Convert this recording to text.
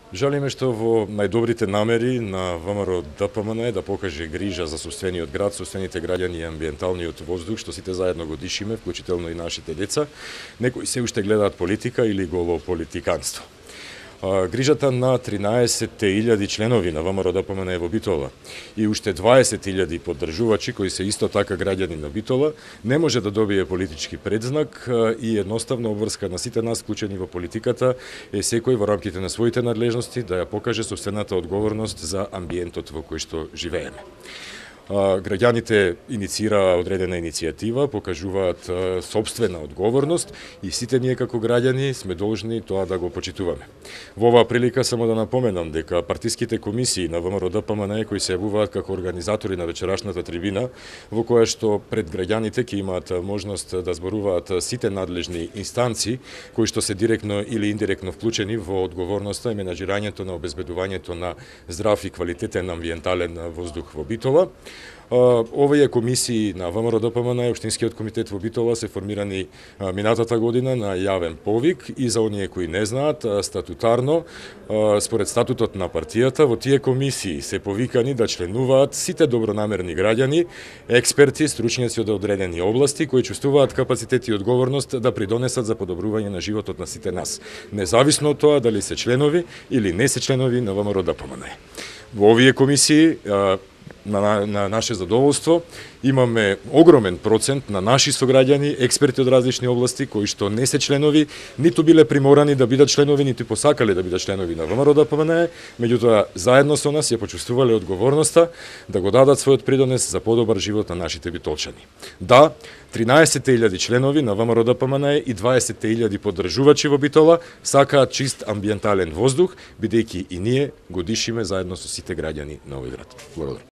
Жалиме што во најдобрите намери на ВМРО ДПМН да покаже грижа за сопствениот град, сопствените граѓани и амбиенталниот воздух, што сите заедно го дишиме, вклучително и нашите деца, некои се уште гледаат политика или голо политиканство. Грижата на 13.000 членови на ВМРО ДПМН во Битола и уште 20.000 поддржувачи кои се исто така граѓани на Битола не може да добие политички предзнак и едноставно обврска на сите нас вклучени во политиката е секој во рамките на своите надлежности да ја покаже сопствената одговорност за амбиентот во кој што живееме. Граѓаните инициираа одредена иницијатива, покажуваат сопствена одговорност и сите ние како граѓани сме должни тоа да го почитуваме. Во оваа прилика само да напоменам дека партиските комисии на ВМРО ДПМН кои се јавуваат како организатори на вечерашната трибина, во која што пред граѓаните ќе имаат можност да зборуваат сите надлежни инстанции кои што се директно или индиректно вклучени во одговорноста и менаџирањето на обезбедувањето на здрав и квалитетен амбиентален воздух во Битола. Овие комисии на ВМРО ДПМН и Општинскиот комитет во Битола се формирани минатата година на јавен повик и за оние кои не знаат, статутарно, според статутот на партијата, во тие комисии се повикани да членуваат сите добронамерни граѓани, експерти, стручњаци од одредени области кои чувствуваат капацитет и одговорност да придонесат за подобрување на животот на сите нас, независно од тоа дали се членови или не се членови на ВМРО ДПМН. Во овие комисии на наше задоволство имаме огромен процент на наши сограѓани, експерти од различни области кои што не се членови, ниту биле приморани да бидат членови, ниту посакале да бидат членови на ВМРО ДПМН, меѓутоа заедно со нас ја почувствувале одговорноста да го дадат својот придонес за подобар живот на нашите битолчани. Да, 13.000 членови на ВМРО ДПМН и 20.000 поддржувачи во Битола сакаат чист амбиентален воздух, бидејќи и ние го дишиме заедно со сите граѓани на овој град. Благодарам.